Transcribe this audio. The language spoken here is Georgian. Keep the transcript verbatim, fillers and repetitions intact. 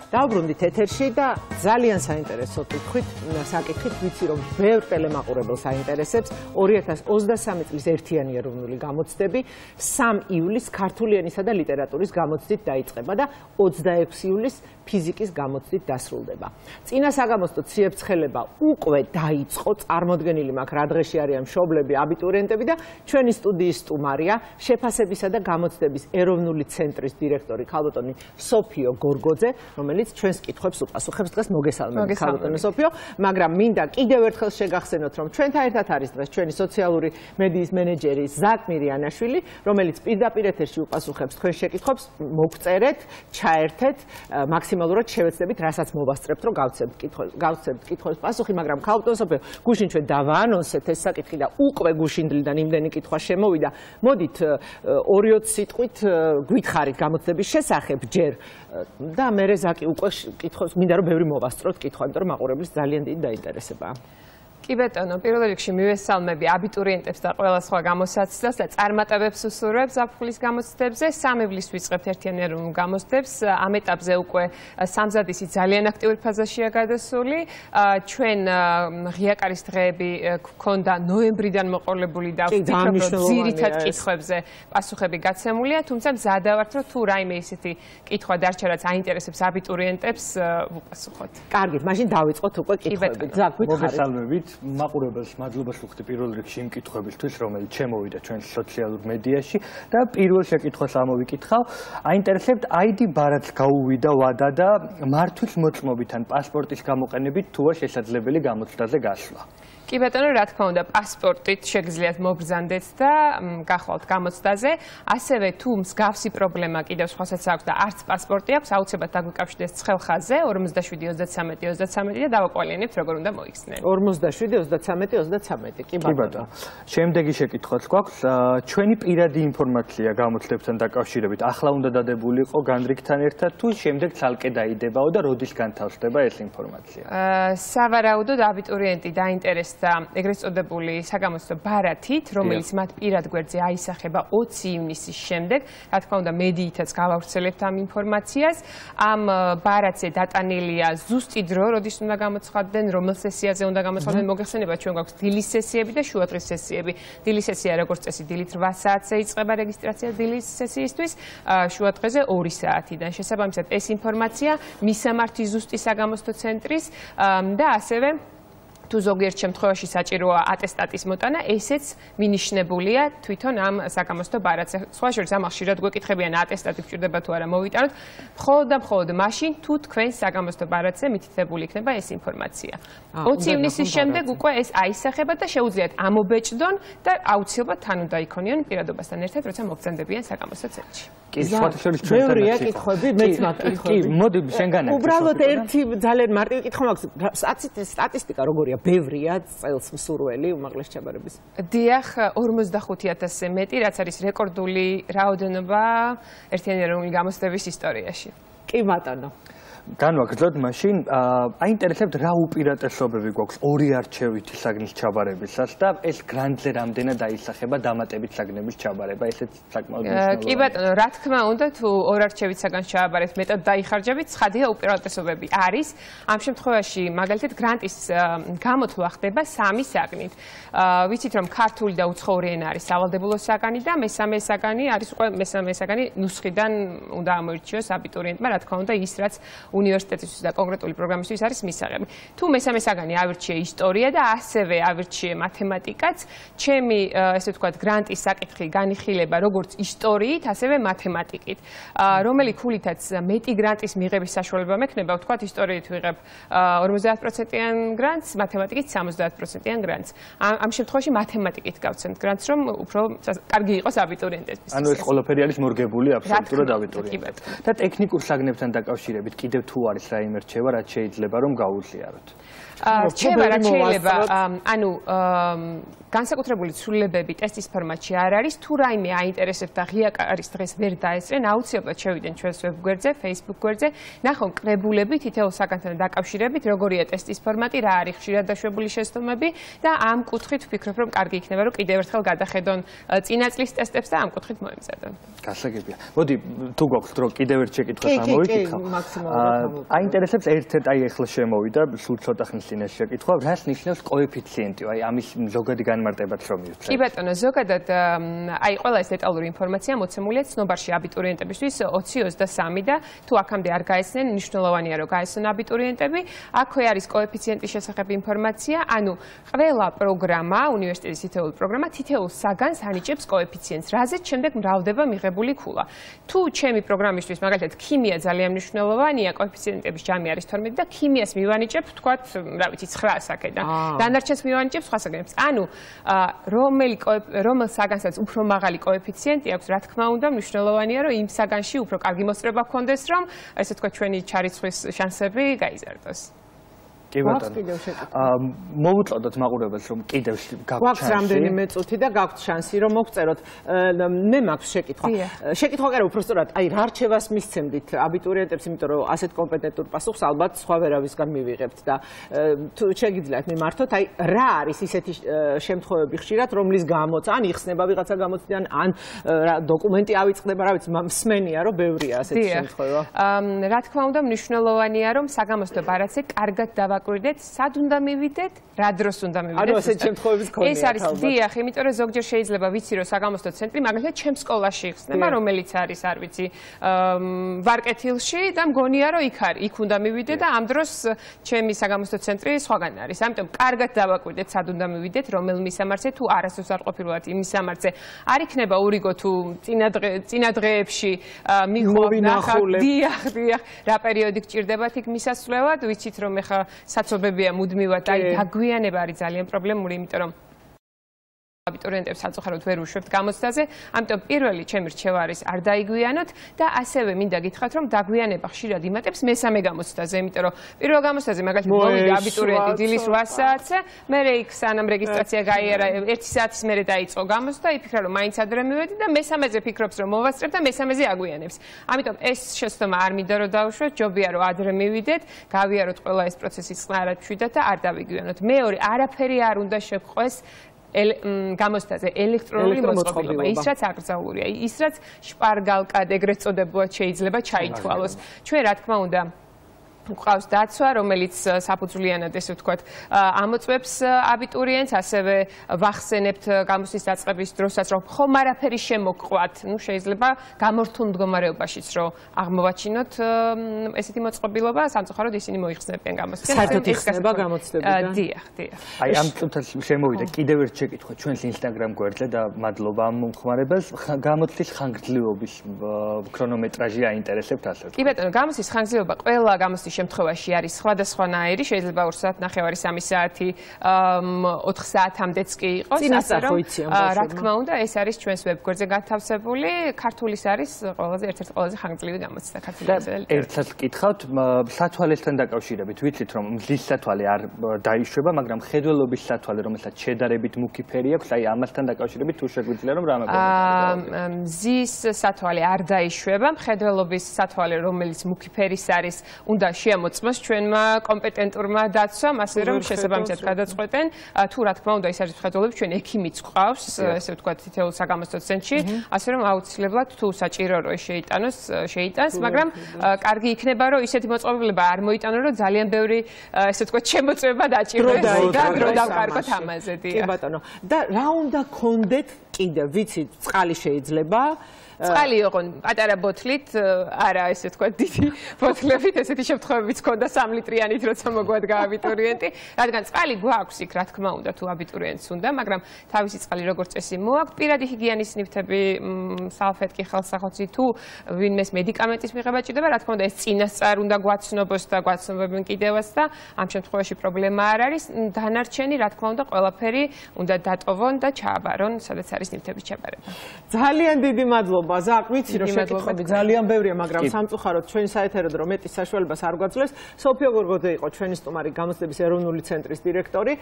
დავბრუნდით ეთერში და ძალიან საინტერესო კითხვით, საკითხით ვიცი რომ ბევრ ტელემაყურებელს აინტერესებს ორი ათას ოცდასამი წლის ერთიანი ეროვნული გამოცდები სამი ივლისს ქართული ენისა და ლიტერატურის გამოცდით დაიწყება და ოცდაექვსი ივლისს ფიზიკის გამოცდით დასრულდება. წინა საგამოცდო ციებ-ცხელება უკვე დაიწყო, წარმოდგენილი მაქვს რა დღეში არიან მშობლები, აბიტურიენტები და ჩვენი სტუდიის სტუმარია შეფასებისა და გამოცდების ეროვნული ცენტრის დირექტორი ქალბატონი სოფიო გორგოძე, რომელიც ჩვენს კითხვებს უპასუხებს. დღეს მოგესალმებით ქალბატონო სოფიო, მაგრამ მინდა კიდევ ერთხელ შეგახსენოთ, რომ ჩვენთან ერთად არის დღეს ჩვენი სოციალური მედიის მენეჯერი ზაკ მირიანაშვილი, რომელიც პირდაპირ ეთერში უპასუხებს თქვენ შეკითხვებს, მოგწერეთ, ჩაერთეთ, მაქსიმალურად შევეცდებით, რასაც მოვასწრებთ, რომ გავცემთ კითხვებს, გავცემთ კითხვებს პასუხი, მაგრამ ქალბატონო სოფიო, გუშინ ჩვენ დავაანონსეთ ეს საკითხი და უკვე გუშინდლიდან იმდენი კითხვა შემოვიდა. მოდით ორი ოცი სიტყვით გვითხრით გამოცდების შესახებ ჯერ და მერე ზაკი უკვე კითხავს, მინდა რომ ბევრი მოვასწროთ კითხვა, იმიტომ რომ მაყურებლის ძალიან დიდი დაინტერესებაა. კი ბატონო, პირველ რიგში მივესალმები აბიტურიენტებს და ყველა სხვა გამოსაცდელს და წარმატებებს უსურვებს ზაფხულის გამოცდებზე. სამი ივლისს ვიწყებთ ერთიანი ეროვნულ გამოცდებს. ამ ეტაპზე უკვე სამზადისი ძალიან აქტიური ფაზაშია გადასული. ჩვენ ღიაკარის დღეები გვქონდა ნოემბრიდან მოყოლებული და ვფიქრობ, რომ ძირითად კითხვებზე პასუხები გაცემულია, თუმცა მზადა ვართ, რომ თუ რაიმე ისეთი კითხვა დარჩა, რაც აინტერესებს აბიტურიენტებს, ვუპასუხოთ. კარგით, მაშინ დავიწყოთ უკვე კითხვები. ზაკ, მოგესალმებით. მაყურებელს მადლობას ვუხდი პირველ რიგში იმ კითხვებისთვის, რომელიც შემოვიდა ჩვენს სოციალურ მედიაში და პირველ შეკითხვას ამოვიკითხავ. აინტერესებთ აიდი ბარათს გაუვიდა ვადა და მართვის მოწმობით ან პასპორტის გამოყენებით თუა შესაძლებელი გამოცდაზე გასვლა. კი ბატონო, რა თქმა უნდა, პასპორტით შეგიძლიათ მობრძანდეთ და გახვალთ გამოცდაზე. ასევე თუ მსგავსი პრობლემა კიდევ სხვასაც აქვს და არც პასპორტი აქვს, აუცილებლად დაგვიკავშირდეს ცხელ ხაზზე ორმოცდაშვიდი ოცდაცამეტი ოცდაცამეტი და დავაკვალიანებთ როგორ უნდა მოიხსნიან. ორმოცდაშვიდი ოცდაცამეტი ოცდაცამეტი. კი ბატონო. შემდეგი შეკითხვაც გვაქვს. ჩვენი პირადი ინფორმაცია გამოცდებთან დაკავშირებით ახლა უნდა დადებული იყო განრიგთან ერთად თუ შემდეგ ცალკე დაიდებაო და როდის განთავსდება ეს ინფორმაცია? სავარაუდოდ აბიტურიენტი დაინტერესდა და ეგრეთ წოდებული საგამოცდო ბარათით, რომელიც მათ პირად გვერდზე აისახება ოცი ივნისის შემდეგ, რა თქმა უნდა, მედიითაც გავავრცელებთ ამ ინფორმაციას. ამ ბარათზე დატანილია ზუსტი დრო, როდის უნდა გამოცხადდნენ, რომელ სესიაზე უნდა გამოცხადდნენ. მოგეხსენებათ, ჩვენ გვაქვს დილის სესიები და შუადღის სესიები. დილის სესია, როგორც წესი, დილით რვა საათზე იწყება რეგისტრაცია დილის სესიისთვის, შუადღეზე ორი საათიდან. შესაბამისად, ეს ინფორმაცია მისამართი ზუსტი საგამოცდო ცენტრის და ასევე თუ ზოგიერთ შემთხვევაში საჭიროა ატესტატის მოტანა, ესეც მინიშნებულია თვითონ ამ საგამოცდო ბარათზე. სხვა შორის ამას ხშირად გვეკითხებიან ატესტატი გჭირდება თუ არა მოვიტანოთ. მხოლოდ და მხოლოდ მაშინ, თუ თქვენ საგამოცდო ბარათზე მითითებული იქნება ეს ინფორმაცია. ოცი ივნისის შემდეგ უკვე ეს აისახება და შეუძლიათ ამობეჭდონ და აუცილებლად თან უნდა იქონიონ პირადობასთან ერთად, როცა მობრძანდებიან საგამოცდო ცენტრში. კი, სხვათა შორის ბევრია კითხვები, მეც მაქვს კითხვები. კი, მოდი შენგანაც. უბრალოდ ერთი ძალიან მარტივი კითხვა მაქვს. სტატისტიკა როგორია? ბევრია წელს მსურველი უმაღლეს ჩაბარების. დიახ, ორმოცდახუთი ათასზე მეტი, რაც არის რეკორდული რაოდენობა ერთიანი ეროვნული გამოცდების ისტორიაში. კი ბატონო. განვაგრძელოთ მაშინ, აინტერესებთ რა უპირატესობები გვაქვს ორი არჩევითი საგნის ჩაბარებისას და ეს გრანდზე რამდენად აისახება დამატებით საგნების ჩაბარება, ესეც საკმაოდ მნიშვნელოვანია. კი ბატონო, რა თქმა უნდა, თუ ორ არჩევით საგანს ჩააბარებთ, მეტად დაიხარჯებით, ცხადია უპირატესობები არის. ამ შემთხვევაში, მაგალითად, გრანტის გამოთვლა ხდება სამი საგნით. ვიცით, რომ ქართული და უცხოური ენა არის სავალდებულო საგანი და მესამე საგანი არის უკვე მესამე საგანი ნუსხიდან უნდა ამოირჩიოს აბიტურიენტმა, რა თქმა უნდა, ის რაც უნივერსიტეტისთვის და კონკრეტული პროგრამისთვის არის მისაღები. თუ მესამე საგანი ავირჩიე ისტორია და ასევე ავირჩიე მათემატიკაც, ჩემი ესე ვთქვათ გრანტის საკითხი განიხილება როგორც ისტორიით, ასევე მათემატიკით. რომელი ქულითაც მეტი გრანტის მიღების საშუალება მექნება, ვთქვათ ისტორიით ვიღებ ორმოცდაათ პროცენტიან გრანტს, მათემატიკით სამოცდაათ პროცენტიან გრანტს. ამ შემთხვევაში მათემატიკით გავცემთ გრანტს, რომ უფრო კარგი იყოს აბიტურიენტებისთვის. ანუ ეს ყველაფერი არის მორგებული აბსოლუტურად აბიტურიენტებს. და ტექნიკურ საგნებთან დაკავშირებით კიდევ თუ არის რაიმე რჩევა, რაც შეიძლება რომ გაუზიაროთ. რჩევა რაც შეიძლება, ანუ განსაკუთრებული ცვლილებები ტესტის ფორმატში არ არის, თუ რაიმე აინტერესებთ და ღიაკარის დღეს ვერ დაესწრენ, აუცილებლად შევიდნენ ჩვენს ვებგვერდზე, Facebook გვერდზე, ნახონ კრებულები თითოეულ საგანთან დაკავშირებით, როგორია ტესტის ფორმატი, რა არის ხშირად დაშვებული შეცდომები და ამ კუთხით ვფიქრობ, რომ კარგი იქნება, რომ კიდევ ერთხელ გადახედონ წინა წლის ტესტებს და ამ კუთხით მოემზადონ. გასაგებია. მოდი, თუ გვაქვს დრო, კიდევ ერთ შეკითხვას ამოვიკითხავ. აინტერესებს ერთ-ერთ აი ახლა შემოვიდა სულ ცოტა ხნის წინაშე შეკითხვა, რას ნიშნავს კოეფიციენტი, აი ამის ზოგადი განმარტებაც რომ მივცეთ. კი ბატონო, ზოგადად აი ყველა ეს დეტალური ინფორმაცია მოცემულია ცნობარში აბიტურიენტებისთვის ოცი ოცდასამი და თუ აქამდე არ გაეცნენ, მნიშვნელოვანია რომ გაეცნონ აბიტურიენტები. აქვე არის კოეფიციენტის შესახებ ინფორმაცია, ანუ ყველა პროგრამა, უნივერსიტეტის თითოეული პროგრამა თითოეულ საგანს ანიჭებს კოეფიციენტს, რაზეც შემდეგ მრავლდება მიღებული ქულა. თუ ჩემი პროგრამისთვის მაგალითად ქიმია ძალიან მნიშვნელოვანია, კოეფიციენტების ჯამი არის თორმეტი და ქიმიას მივანიჭებ, თქვათ, რა ვიცი, ცხრას აქედან. დანარჩენს მივანიჭებ სხვა საგანებს. ანუ რომელი რომელ საგანსაც უფრო მაღალი კოეფიციენტი აქვს, რა თქმა უნდა, მნიშვნელოვანია, რომ იმ საგანში უფრო კარგი მოსწრება გქონდეს, რომ ესე თქვა ჩვენი ჩარიცხვის შანსები გაიზარდოს. კი ბატონო. მოვუწოდოთ მაყურებელს რომ კიდევ გაგვაქვს რამდენიმე წუთი და გაგვთ შანსი რომ მოგწეროთ. მე მაქვს შეკითხვა. შეკითხვა კი არა, უბრალოდ აი რა რჩევას მისცემდით აბიტურიენტებს, იმიტომ რომ ასეთ კომპეტენტურ პასუხს ალბათ სხვა ვერავისგან მივიღებთ და თუ შეგიძლიათ მიმართოთ, აი რა არის ისეთი შემთხვევები ხშირად, რომლის გამოც ან იხსნება ვიღაცა გამოცდიდან, ან დოკუმენტი ავიწყდება, რა ვიცი, მსმენია რომ ბევრია ასეთი შემთხვევა. რა თქმა უნდა, მნიშვნელოვანია რომ საგამოცდო ბარათზე კარგად დავა გვირდეთ, სად უნდა მივიდეთ, რა დროს უნდა მივიდეთ. ანუ ასეთ შემთხვევების ქონია. ეს არის დიახ, იმიტომ რომ ზოგჯერ შეიძლება ვიცი რომ საგამოცდო ცენტრი მაგალითად ჩემს სკოლაში იხსნება, რომელიც არის, არ ვიცი, ვარკეთილში და მგონია რომ იქ არის, იქ უნდა მივიდე და ამ დროს ჩემი საგამოცდო ცენტრი სხვაგან არის. ამიტომ კარგად დავაკვირდეთ, სად უნდა მივიდეთ, რომელ მისამართზე თუ არასდროს არ ყოფილვართ იმ მისამართზე. არ იქნება ურიგო თუ წინა დღეებში მიხვდით, დიახ, დიახ, რა პერიოდი გჭირდებათ იქ მისასვლელად, ვიცით რომ ეხა საცობებია მუდმივად, აი დაგვიანება არის ძალიან პრობლემური, იმიტომ რომ აბიტურიენტებს საწუხაროდ ვერ უშვებთ გამოცდაზე, ამიტომ პირველი ჩემი რჩევა არის არ დაიგვიანოთ და ასევე მინდა გითხრათ, რომ დაგვიანება ხშირად იმატებს მესამე გამოცდაზე, იმიტომ რომ პირველ გამოცდაზე მაგალითად მოვიდა აბიტურიენტი დილის რვა საათზე, მერე იქ სანამ რეგისტრაცია გაიარა, ერთი საათის მერე დაიწყო გამოცდა, იფიქრა რომ მაინც ადრე მივედი და მესამეზე ფიქრობს რომ მოვასწრებ და მესამეზე აგვიანებს. ამიტომ ეს შეცდომა არ მინდა რომ დავუშვათ, ჯობია რომ ადრე მივიდეთ, გავიაროთ ყველა ეს პროცესი წყნარად მშვიდად და არ დავიგვიანოთ. მეორე, არაფერი არ უნდა შეგყვეს გამოცდაზე ელექტრონული მოწყობილობა, ის რაც აკრძალულია, ის რაც შპარგალკად ეგრეთ წოდებულად შეიძლება ჩაითვალოს. ჩვენ რა თქმა უნდა გვყავს დაცვა, რომელიც საფუძვლიანად ესე ვთქვათ, ამოწმებს აბიტურიენტს, ასევე ვახსენებთ გამოცდის დაწყების დროსაც, რომ ხომ არაფერი შემოგყვათ, ну შეიძლება გამორთულ მდგომარეობაშიც რომ აღმოვაჩინოთ ესეთი მოწყობილობა, სამწუხაროდ ისინი მოიხსნებიან გამოცდას. საერთოდ იხსნება გამოცდებიდან? დიახ, დიახ. აი ამ წუთას შემოვიდა კიდევ ერთ შეკითხვა ჩვენს Instagram გვერდზე და მადლობა ამ მომხმარებელს. გამოცდის ხანგრძლივობის ქრონომეტრაჟი აინტერესებთ ასე. კი ბატონო, გამოცდის ხანგრძლივობა ყველა გამოცდის შემთხვევაში არის სხვადასხვანაირი, შეიძლება ორ საათ ნახევარი სამი საათი ოთხ საათამდეც კი იყოს, ასე რომ რა თქმა უნდა ეს არის ჩვენს ვებგვერდზე გათავსებული, ქართულის არის ყველაზე ერთ-ერთი ყველაზე ხანგრძლივი გამოცდა ქართულისა და ერთად გკითხავთ, სათვალესთან დაკავშირებით ვიცით რომ მზის სათვალე არ დაიშვება, მაგრამ ხედველობის სათვალე, რომელსაც შედარებით მუქი ფერი აქვს, აი ამასთან დაკავშირებით თუ შეგვიძლია რომ რამე აა მზის სათვალე არ დაიშვება, ხედველობის სათვალე, რომელიც მუქი ფერის არის, უნდა შემოწმოს ჩვენმა კომპეტენტურმა დაცვამ, ასე რომ შესაბამისად გადაწყვეტენ, თუ რა თქმა უნდა ის არის ხედველები, ჩვენ ექიმიც გვყავს, ესე ვთქვათ, თითოეულ საგამოცდო ცენტრში, ასე რომ აუცილებლად თუ საჭირო რომ შეიტანოს, შეიტანს, მაგრამ კარგი იქნება რომ ისეთი მოწყობილება არ მოიტანო, რომ ძალიან ბევრი ესე ვთქვათ, შემოწმება დაჭიროს და დრო დავკარგოთ ამაზე, დიახ. კი ბატონო. და რა უნდა გქონდეთ კიდევ, ვიცით, წყალი შეიძლება წყალი იყო პატარა ბოთლით, არა ესე თქვა დიდი ბოთლებით, ესეთი შემთხვევებიც ქონდა სამ ლიტრიანით, როცა მოგვადგა აბიტურიენტი, რადგან წყალი გვაქვს იქ, რა თქმა უნდა, თუ აბიტურიენტს უნდა, მაგრამ თავისი წყალი როგორც წესი მოაქვს, პირადი ჰიგიენის ნივთები, სალფეტკი, ხელსახოცი, თუ ვინმეს მედიკამენტის მიღება ჭირდება, რა თქმა უნდა, ეს წინასწარ უნდა გვაცნობოს და გვაცნობებენ კიდევაც და ამ შემთხვევაში პრობლემა არ არის. დანარჩენი, რა თქმა უნდა, ყველაფერი უნდა დატოვონ და ჩააბარონ, სადაც არის ნივთების ჩაბარება. ძალიან დიდი მადლობა. ზაკ, ვიცი რომ შეკითხვები ძალიან ბევრია, მაგრამ სამწუხაროდ ჩვენი საეთერო დრო მეტის საშუალებას არ გვაძლევს. სოფიო გორგოძე იყო ჩვენი სტუმარი, გამოცდების ეროვნული ცენტრის დირექტორი.